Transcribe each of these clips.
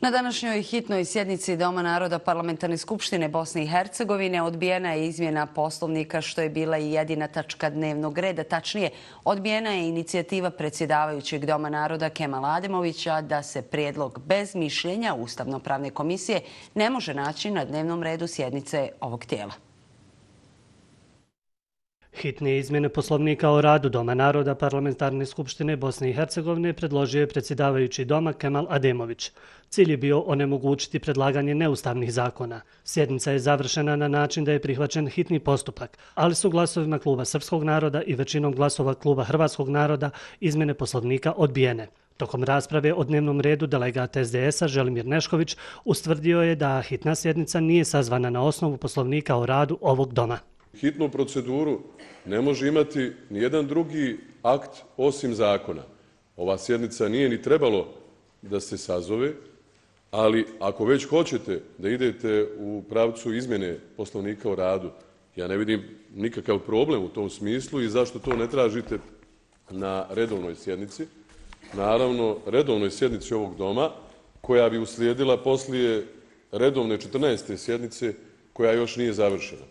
Na današnjoj hitnoj sjednici Doma naroda Parlamentarne skupštine Bosne i Hercegovine odbijena je izmjena Poslovnika, što je bila i jedina tačka dnevnog reda. Tačnije, odbijena je inicijativa predsjedavajućeg Doma naroda Kemala Ademovića da se prijedlog bez mišljenja Ustavno-pravne komisije ne može naći na dnevnom redu sjednice ovog tijela. Hitne izmjene Poslovnika o radu Doma naroda Parlamentarne skupštine Bosne i Hercegovine predložio je predsjedavajući Doma Kemal Ademović. Cilj je bio onemogućiti predlaganje neustavnih zakona. Sjednica je završena na način da je prihvaćen hitni postupak, ali su glasovima Kluba Srpskog naroda i većinom glasova Kluba Hrvatskog naroda izmjene Poslovnika odbijene. Tokom rasprave o dnevnom redu delegat SDS-a Želimir Nešković ustvrdio je da hitna sjednica nije sazvana na osnovu Poslovnika o radu ovog Doma. Hitnu proceduru ne može imati nijedan drugi akt osim zakona. Ova sjednica nije ni trebalo da se sazove, ali ako već hoćete da idete u pravcu izmjene Poslovnika o radu, ja ne vidim nikakav problem u tom smislu i zašto to ne tražite na redovnoj sjednici. Naravno, redovnoj sjednici ovog Doma, koja bi uslijedila poslije redovne 14. sjednice koja još nije završena.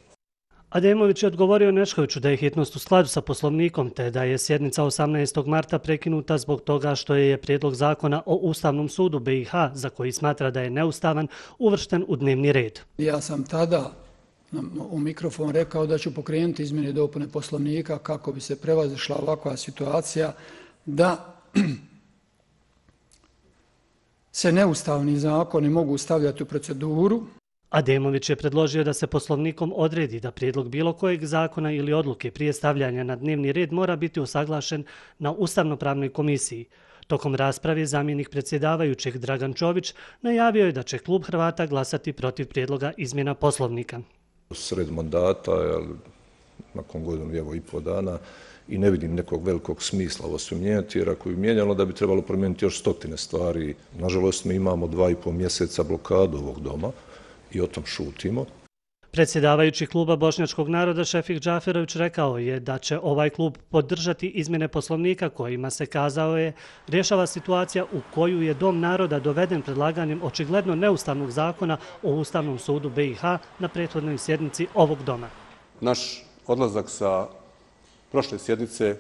Ademović je odgovorio Neškoviću da je hitnost u skladu sa Poslovnikom, te da je sjednica 18. marta prekinuta zbog toga što je prijedlog zakona o Ustavnom sudu BiH, za koji smatra da je neustavan, uvršten u dnevni red. Ja sam tada u mikrofon rekao da ću pokrenuti izmjene i dopune Poslovnika kako bi se prevazišla ovakva situacija da se neustavni zakoni mogu stavljati u proceduru. Ademović je predložio da se Poslovnikom odredi da prijedlog bilo kojeg zakona ili odluke prije stavljanja na dnevni red mora biti usaglašen na Ustavno-pravnoj komisiji. Tokom rasprave zamjenik predsjedavajućeg Dragan Čović najavio je da će klub Hrvata glasati protiv prijedloga izmjena Poslovnika. Sred mandata, nakon godinu i pol dana, i ne vidim nekog velikog smisla ovo sve mijenjati, jer ako bi mijenjalo da bi trebalo promijeniti još stotine stvari. Nažalost, mi imamo 2,5 mjeseca blokadu ovog Doma i o tom šutimo. Predsjedavajući kluba Bošnjačkog naroda Šefik Džaferović rekao je da će ovaj klub podržati izmjene Poslovnika kojima se, kazao je, rješava situacija u koju je Dom naroda doveden predlaganjem očigledno neustavnog zakona o Ustavnom sudu BiH na prethodnoj sjednici ovog Doma. Naš odlazak sa prošle sjednice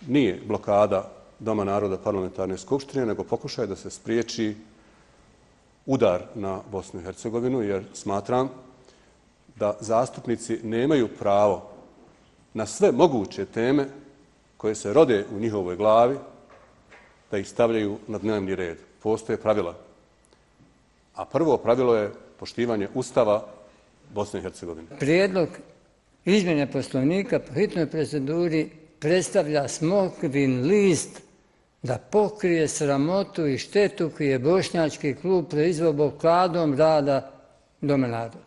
nije blokada Doma naroda Parlamentarne skupštine, nego pokušaj da se spriječi udar na Bosnu i Hercegovinu, jer smatram da zastupnici nemaju pravo na sve moguće teme koje se rode u njihovoj glavi da ih stavljaju na dnevni red. Postoje pravila. A prvo pravilo je poštivanje Ustava Bosne i Hercegovine. Prijedlog izmjene Poslovnika po hitnoj proceduri predstavlja smokvin list da pokrije sramotu i štetu koju je Bošnjački klub proizveo blokadom rada Doma naroda.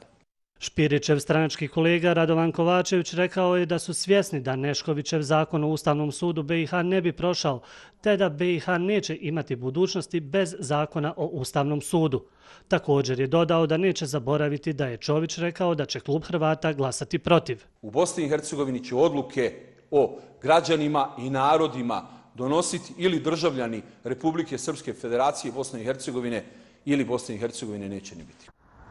Špirićev stranački kolega Radovan Kovačević rekao je da su svjesni da Neškovićev zakon o Ustavnom sudu BiH ne bi prošao, te da BiH neće imati budućnosti bez zakona o Ustavnom sudu. Također je dodao da neće zaboraviti da je Čović rekao da će klub Hrvata glasati protiv. U Bosni i Hercegovini će odluke o građanima i narodima donositi ili državljani Republike Srpske Federacije Bosne i Hercegovine ili Bosne i Hercegovine neće ni biti.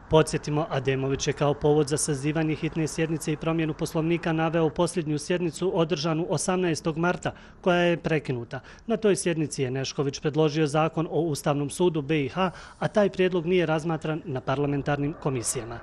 Podsjetimo, Ademović je kao povod za sazivanje hitne sjednice i promjenu Poslovnika naveo posljednju sjednicu održanu 18. marta, koja je prekinuta. Na toj sjednici je Nešković predložio zakon o Ustavnom sudu BiH, a taj prijedlog nije razmatran na parlamentarnim komisijama.